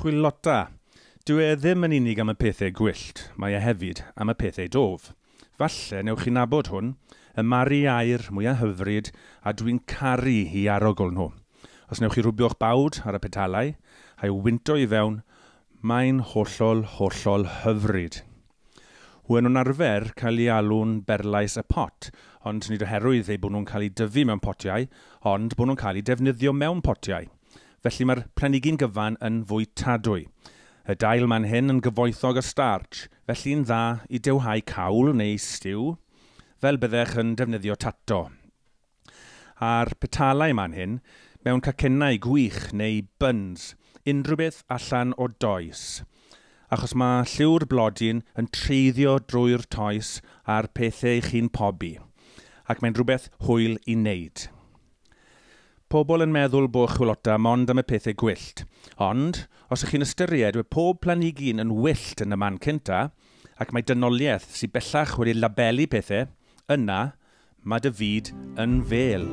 Chwilota. Dyw e ddim yn unig am y pethau gwyllt, mae e hefyd am y pethau dof. Falle newch chi nabod hwn, y mari aur mwyaf hyfryd a dwi'n caru i arogl nhw. Os newch chi rwbio'ch bawd ar y petalau a'i wynto i fewn, mae'n hollol, hollol hyfryd. Wen nhw'n arfer cael ei alw'n berlais y pot, ond nid oherwydd eu bod nhw'n cael eu dyfu mewn potiau, ond bod nhw'n cael eu defnyddio mewn potiau. Felly mae'r planhigyn gyfan yn fwytadwy. Y dail man hyn yn gyfoethog o starch, felly'n dda i dewhau cawl neu stew, fel byddech yn defnyddio tato. A'r petalau man hyn, mewn cacennau gwych neu buns, unrhyw beth allan o does. Achos mae lliw'r blodyn yn treiddio drwy'r toes a'r pethau chi'n pobi, ac mae'n rhywbeth hwyl i wneud. Pobl yn meddwl bod chwilota mond am y pethau gwyllt, ond os ych chi'n ystyried mae pob planhigyn yn wyllt yn y man cynta, ac mae dynoliaeth sydd bellach wedi labelu pethau, yna mae dy fyd yn fel.